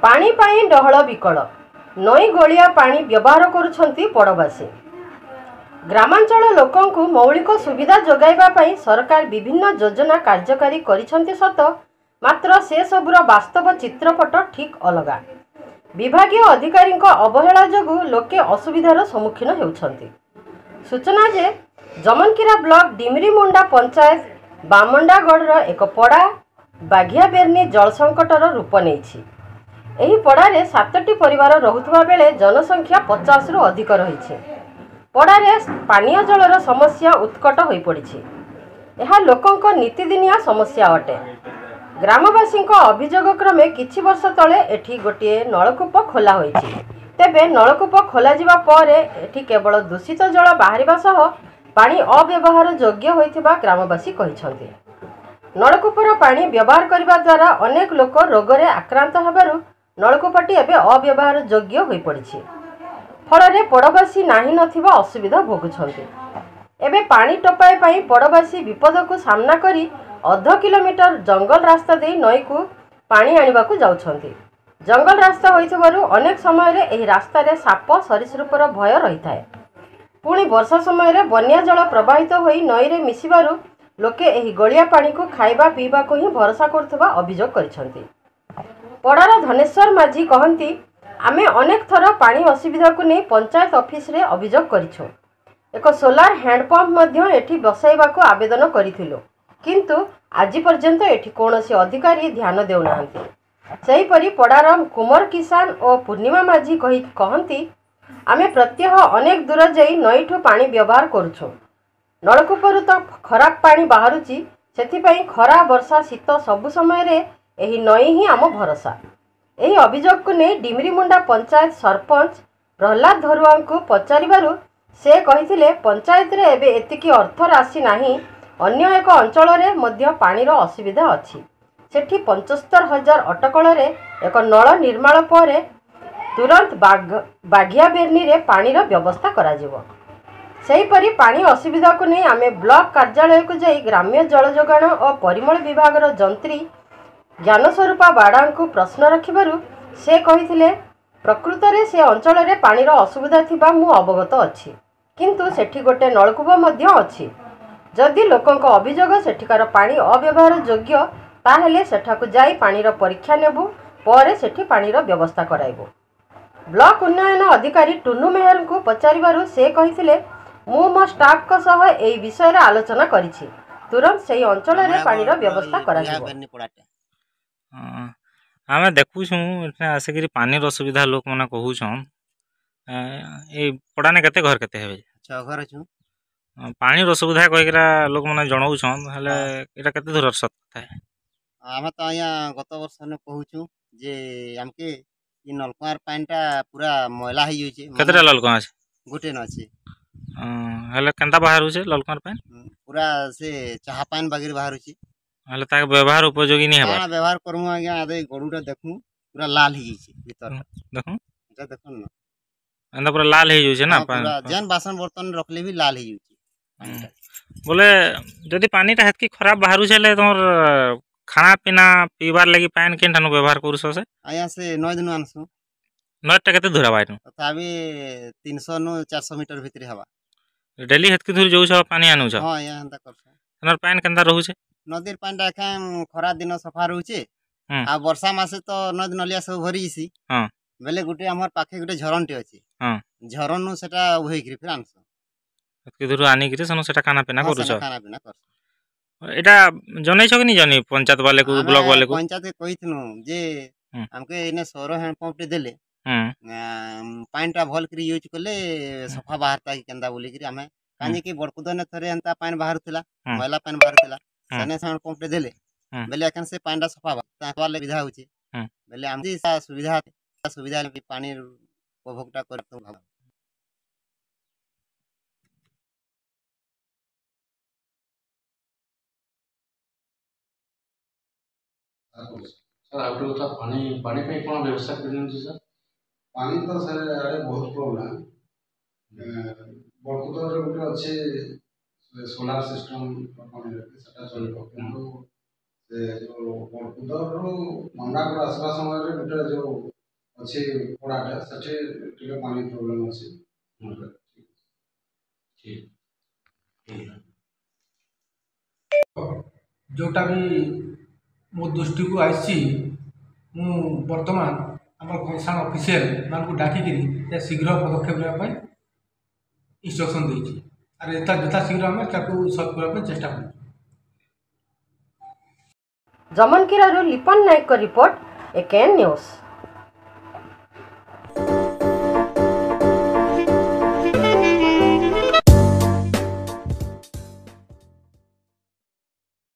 ପାଣି ପାଇଁ ଡହଳ ବିକଳ, ନଈ ଗୋଳିଆ ପାଣି ବ୍ୟବହାର କରୁଛନ୍ତି ପଡ଼ବାସୀ। ଗ୍ରାମାଞ୍ଚଳ ଲୋକଙ୍କୁ ମୌଳିକ ସୁବିଧା ଯୋଗାଇବା ପାଇଁ ସରକାର ବିଭିନ୍ନ ଯୋଜନା କାର୍ଯ୍ୟକାରୀ କରିଛନ୍ତି ସତ, ମାତ୍ର ସେସବୁର ବାସ୍ତବ ଚିତ୍ରପଟ ଠିକ୍ ଅଲଗା। ବିଭାଗୀୟ ଅଧିକାରୀଙ୍କ ଅବହେଳା ଯୋଗୁଁ ଲୋକେ ଅସୁବିଧାର ସମ୍ମୁଖୀନ ହେଉଛନ୍ତି। ସୂଚନା ଯେ, ଜମନକିରା ବ୍ଲକ ଡିମିରିମୁଣ୍ଡା ପଞ୍ଚାୟତ ବାମଣ୍ଡାଗଡ଼ର ଏକ ପଡ଼ା ବାଘିଆବେର୍ନି ଜଳ ସଙ୍କଟର ରୂପ ନେଇଛି। ଏହି ପଡ଼ାରେ 7ଟି ପରିବାର ରହୁଥିବା ବେଳେ ଜନସଂଖ୍ୟା 50ରୁ ଅଧିକ ରହିଛି। ପଡ଼ାରେ ପାନୀୟ ଜଳର ସମସ୍ୟା ଉତ୍କଟ ହୋଇପଡ଼ିଛି। ଏହା ଲୋକଙ୍କ ନିତିଦିନିଆ ସମସ୍ୟା ଅଟେ। ଗ୍ରାମବାସୀଙ୍କ ଅଭିଯୋଗ କ୍ରମେ କିଛି ବର୍ଷ ତଳେ ଏଠି ଗୋଟିଏ ନଳକୂପ ଖୋଲା ହୋଇଛି। ତେବେ ନଳକୂପ ଖୋଲାଯିବା ପରେ ଏଠି କେବଳ ଦୂଷିତ ଜଳ ବାହାରିବା ସହ ପାଣି ଅବ୍ୟବହାର ଯୋଗ୍ୟ ହୋଇଥିବା ଗ୍ରାମବାସୀ କହିଛନ୍ତି। ନଳକୂପର ପାଣି ବ୍ୟବହାର କରିବା ଦ୍ୱାରା ଅନେକ ଲୋକ ରୋଗରେ ଆକ୍ରାନ୍ତ ହେବାରୁ ନଳକୂପଟି ଏବେ ଅବ୍ୟବହାର ଯୋଗ୍ୟ ହୋଇପଡ଼ିଛି। ଫଳରେ ପଡ଼ବାସୀ ନାହିଁ ନଥିବା ଅସୁବିଧା ଭୋଗୁଛନ୍ତି। ଏବେ ପାଣି ଟୋପାଏ ପାଇଁ ପଡ଼ବାସୀ ବିପଦକୁ ସାମ୍ନା କରି ଅଧ କିଲୋମିଟର ଜଙ୍ଗଲ ରାସ୍ତା ଦେଇ ନଈକୁ ପାଣି ଆଣିବାକୁ ଯାଉଛନ୍ତି। ଜଙ୍ଗଲ ରାସ୍ତା ହୋଇଥିବାରୁ ଅନେକ ସମୟରେ ଏହି ରାସ୍ତାରେ ସାପ, ସରୀସୃପର ଭୟ ରହିଥାଏ। ପୁଣି ବର୍ଷା ସମୟରେ ବନ୍ୟା ଜଳ ପ୍ରବାହିତ ହୋଇ ନଈରେ ମିଶିବାରୁ ଲୋକେ ଏହି ଗୋଳିଆ ପାଣିକୁ ଖାଇବା ପିଇବାକୁ ହିଁ ଭରସା କରୁଥିବା ଅଭିଯୋଗ କରିଛନ୍ତି। ପଡ଼ାର ଧନେଶ୍ୱର ମାଝୀ କହନ୍ତି, ଆମେ ଅନେକ ଥର ପାଣି ଅସୁବିଧାକୁ ନେଇ ପଞ୍ଚାୟତ ଅଫିସରେ ଅଭିଯୋଗ କରିଛୁ। ଏକ ସୋଲାର ହ୍ୟାଣ୍ଡପମ୍ପ ମଧ୍ୟ ଏଠି ବସାଇବାକୁ ଆବେଦନ କରିଥିଲୁ, କିନ୍ତୁ ଆଜି ପର୍ଯ୍ୟନ୍ତ ଏଠି କୌଣସି ଅଧିକାରୀ ଧ୍ୟାନ ଦେଉନାହାନ୍ତି। ସେହିପରି ପଡ଼ାର କୁମର କିଷାନ ଓ ପୂର୍ଣ୍ଣିମା ମାଝୀ କହନ୍ତି, ଆମେ ପ୍ରତ୍ୟହ ଅନେକ ଦୂର ଯାଇ ନଈଠୁ ପାଣି ବ୍ୟବହାର କରୁଛୁ। ନଳକୂପରୁ ତ ଖରାପ ପାଣି ବାହାରୁଛି, ସେଥିପାଇଁ ଖରା, ବର୍ଷା, ଶୀତ ସବୁ ସମୟରେ ଏହି ନଈ ହିଁ ଆମ ଭରସା। ଏହି ଅଭିଯୋଗକୁ ନେଇ ଡିମିରିମୁଣ୍ଡା ପଞ୍ଚାୟତ ସରପଞ୍ଚ ପ୍ରହ୍ଲାଦ ଧରୁଆଙ୍କୁ ପଚାରିବାରୁ ସେ କହିଥିଲେ, ପଞ୍ଚାୟତରେ ଏବେ ଏତିକି ଅର୍ଥ ରାଶି ନାହିଁ। ଅନ୍ୟ ଏକ ଅଞ୍ଚଳରେ ମଧ୍ୟ ପାଣିର ଅସୁବିଧା ଅଛି। ସେଠି 75 ହଜାର ଅଟକଳରେ ଏକ ନଳ ନିର୍ମାଣ ପରେ ତୁରନ୍ତ ବାଘିଆବେର୍ନିରେ ପାଣିର ବ୍ୟବସ୍ଥା କରାଯିବ। ସେହିପରି ପାଣି ଅସୁବିଧାକୁ ନେଇ ଆମେ ବ୍ଲକ କାର୍ଯ୍ୟାଳୟକୁ ଯାଇ ଗ୍ରାମ୍ୟ ଜଳ ଯୋଗାଣ ଓ ପରିମଳ ବିଭାଗର ଯନ୍ତ୍ରୀ ଜ୍ଞାନସ୍ୱରୂପା ବାଡ଼ାଙ୍କୁ ପ୍ରଶ୍ନ ରଖିବାରୁ ସେ କହିଥିଲେ, ପ୍ରକୃତରେ ସେ ଅଞ୍ଚଳରେ ପାଣିର ଅସୁବିଧା ଥିବା ମୁଁ ଅବଗତ ଅଛି, କିନ୍ତୁ ସେଠି ଗୋଟେ ନଳକୂପ ମଧ୍ୟ ଅଛି। ଯଦି ଲୋକଙ୍କ ଅଭିଯୋଗ ସେଠିକାର ପାଣି ଅବ୍ୟବହାର ଯୋଗ୍ୟ, ତାହେଲେ ସେଠାକୁ ଯାଇ ପାଣିର ପରୀକ୍ଷା ନେବୁ, ପରେ ସେଠି ପାଣିର ବ୍ୟବସ୍ଥା କରାଇବୁ। ବ୍ଲକ ଉନ୍ନୟନ ଅଧିକାରୀ ଟୁନୁ ମେହେରଙ୍କୁ ପଚାରିବାରୁ ସେ କହିଥିଲେ, ମୁଁ ମୋ ଷ୍ଟାଫଙ୍କ ସହ ଏହି ବିଷୟରେ ଆଲୋଚନା କରିଛି, ତୁରନ୍ତ ସେହି ଅଞ୍ଚଳରେ ପାଣିର ବ୍ୟବସ୍ଥା କରାଯିବ। ଆମେ ଦେଖୁଛୁଁ ଏଠେ ଆସିକିରି ପାନିର ଅସୁବିଧା ଲୋକମାନେ କହୁଛନ୍। ଏଇ ପଡ଼ାନେ କେତେ ଘର କେତେ ହେବେ? 6 ଘର ଅଛୁ। ପାଣିର ଅସୁବିଧା କହିକିରା ଲୋକମାନେ ଜଣାଉଛନ୍, ହେଲେ ଏଇଟା କେତେ ଦୂର ସତ କଥା? ଆମେ ତ ଆଜ୍ଞା ଗତ ବର୍ଷ କହୁଛୁ ଯେ ଆମକେ ଇ ନଲକୁଆର ପାଣିଟା ପୁରା ମଇଳା ହେଇଯାଉଛି। କେତେଟା ନଲକୁଆ ଅଛି? ଗୋଟେ ନ ଅଛି। ହେଲେ କେନ୍ତା ବାହାରୁଛେ ନଲକୁଆର ପାଣି? ପୁରା ସେ ଚାହା ପାଣି ବାଗିରେ ବାହାରୁଛି। ହେଲେ ତାকে ବ୍ୟବହାର ଉପଯୋଗୀ ନି ହେବା? କାଣା ବ୍ୟବହାର କରମୁ ଆଜ୍ଞା? ଆଦେ ଗଡୁଟା ଦେଖୁଁ, ପୁରା ଲାଲ ହେଇଯାଇଛି ଭିତର। ଦେଖୁଁ, ଏଟା ଦେଖୁন ନା, ଏନ୍ତା ପୁରା ଲାଲ ହେଇଯାଉଛି ନା? ଯେନ୍ ବାସନ ବର୍ତ୍ତନ ରଖଲେ ବି ଲାଲ ହେଇଯାଉଛି। ବୋଲେ ଯଦି ପାନିଟା ହେତ୍କି ଖରାପ ବାହାରୁଛେ, ହେଲେ ତମର ଖାନା ପିନା ପିଇବାର ଲାଗି ପାଏନ୍ କେନ୍ଠାନୁ ବ୍ୟବହାର କରୁଛ ସେ? ଆଜ୍ଞା, ସେ ନଈ ଦିନୁ ଆନସୁଁ। ନଈଟା କେତେ ଦୂର ହେବା ଏଠୁ? ତଥାପି 300 ନୁ 400 ମିଟର ଭିତରେ ହେବା। ଡେଲି ହେତ୍କି ଦୂର ଯାଉଛ, ପାନି ଆନୁଛ? ହଁ ଆଜ୍ଞା, ହେନ୍ତା କରସୁଁ। ସେନର ପାଏନ୍ କେନ୍ତା ରହୁଛେ? ନଦୀର ପାଣିଟା ଏଖାନ୍ ଖରା ଦିନ ସଫା ରହୁଛେ, ଆଉ ବର୍ଷା ମାସେ ତ ନଦୀ ନଲିଆ ସବୁ ଭରି ଯାଇସି। ବେଲେ ଗୋଟେ ଆମର ପାଖେ ଗୋଟେ ଝରଣଟେ ଅଛି, ଝରଣନୁ ସେଟା ଉହେଇକିରି ଫେର୍ ଆନସୁଁ। ହେତ୍କି ଦୂର ଆନିକିରି ସେନୁ ସେଟା ଖାନା ପିନା କରୁଛ? ଖାନା ପିନା କରସୁଁ। ଏଇଟା ଜନେଇଛ କି ନି ଜନେଇ ପଞ୍ଚାୟତ ବାଲେକୁ, ବ୍ଲକ ବାଲେକୁ? ପଞ୍ଚାୟତ କହିଥିନୁ ଯେ ଆମକେ ଏନେ ସୌର ହ୍ୟାଣ୍ଡପମ୍ପ ଟେ ଦେଲେ ପାଣିଟା ଭଲ କରି ୟୁଜ୍ କଲେ ସଫା ବାହାରତା କି କେନ୍ତା ବୋଲିକିରି। ଆମେ କାହିଁକି ବଡ଼କୁଦନେ ଥରେ ଏନ୍ତା ପାଣି ବାହାରୁଥିଲା, ମଇଲା ପାଣି ବାହାରୁଥିଲା, ସେନେ ହ୍ୟାଣ୍ଡ ପମ୍ପ ଟେ ଦେଲେ ବେଲେ ଏଖାନ୍ ସେ ପାଣିଟା ସଫା ସୁବିଧା ହଉଛି। ବେଲେ ଆମେ ସୁବିଧା ପାଣି ଉପଭୋଗଟା କରି। ସାର୍, ଆଉ ଗୋଟେ କଥା, ପାଣି ପାଇଁ କ'ଣ ବ୍ୟବସ୍ଥା କରିଛନ୍ତି ସାର୍? ପାଣି ତ ସାର୍ ଆଡ଼େ ବହୁତ ପ୍ରୋବ୍ଲେମ୍। ବଡ଼କୁଦରେ ଗୋଟେ ଅଛି ସୋଲାର ସିଷ୍ଟମ୍ ସେଟା ଚଳିବ, କିନ୍ତୁ ସେ ଯେଉଁ ବଡ଼କୁଦରରୁ ମଣ୍ଡାପୁର ଆସିବା ସମୟରେ ଗୋଟେ ଯେଉଁ ଅଛି ପଡ଼ାଟା, ସେଠି ଟିକେ ପାଣି ପ୍ରୋବ୍ଲେମ୍ ଅଛି। ଠିକ୍। ଯେଉଁଟା ବି ମୋ ଦୃଷ୍ଟିକୁ ଆସିଛି, ମୁଁ ବର୍ତ୍ତମାନ ଆମର କନସର୍ନ ଅଫିସିଆଲ ମାନଙ୍କୁ ଡାକିକିରି ଶୀଘ୍ର ପଦକ୍ଷେପ ନେବା ପାଇଁ ଇନଷ୍ଟ୍ରକ୍ସନ୍ ଦେଇଛି। ଆର୍ ଯଥା ଶୀଘ୍ର ଆମେ ତାକୁ ସଲ୍ଭ କରିବା ପାଇଁ ଚେଷ୍ଟା କରୁଛୁ। ଜମନକିରାରୁ ଲିପନ ନାୟକଙ୍କ ରିପୋର୍ଟ, ଏକେଏନ୍ ନ୍ୟୁଜ୍।